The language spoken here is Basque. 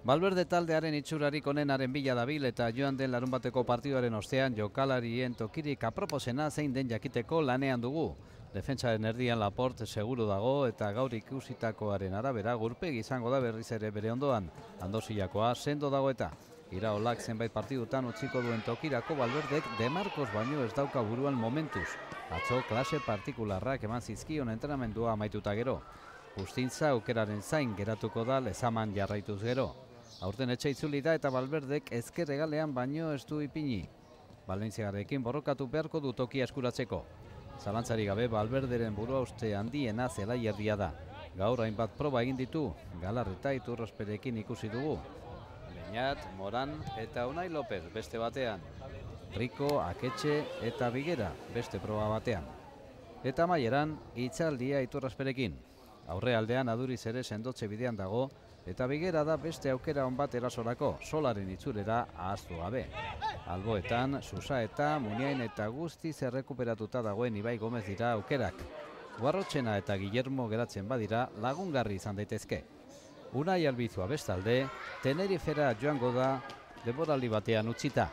Valverde taldearen itxurarik onenaren bila dabil eta joan den larunbateko partiduaren ostean jokalarien tokirik aproposena zein den jakiteko lanean dugu. Defentsaren erdian Laporte seguru dago eta gaur ikusitakoaren arabera gurpegi izango da berriz ere bere ondoan. Andosiakoa sendo dago eta Iraolak zenbait partidutan utziko duen tokirako Valverdek De Marcos baino ez dauka buruan momentuz. Atzo klase partikularrak eman zizkion entrenamendua amaituta gero. Justintza aukeraren zain geratuko da Lezaman jarraituz gero. Aurten etxe itzuli da eta Valverdek ezker hegalean baino ez du ipini. Valentziarekin borrokatu beharko du tokia eskuratzeko. Zalantzari gabe Valverderen burua uste handiena zelaierdia da. Gaur hainbat proba egin ditu, Galarreta Iturrosperekin ikusi dugu. Beñat, Moran eta Unai López beste batean. Rico, Aketxe eta Bigera beste proba batean. Eta amaieran hitzaldia Iturrosperekin. Aurrealdean Aduriz ere sendotze bidean dago eta Bigera da beste aukera on bat erasorako, Solaren itzulera ahaztu gabe. Alboetan, Susa eta Muniain eta guztiz errekuperatuta dagoen Ibai Gomez dira aukerak. Guarrotxena eta Guillermo geratzen badira lagungarri izan daitezke. Unai Albizua bestalde, Tenerifera joango da denboraldi batean utzita.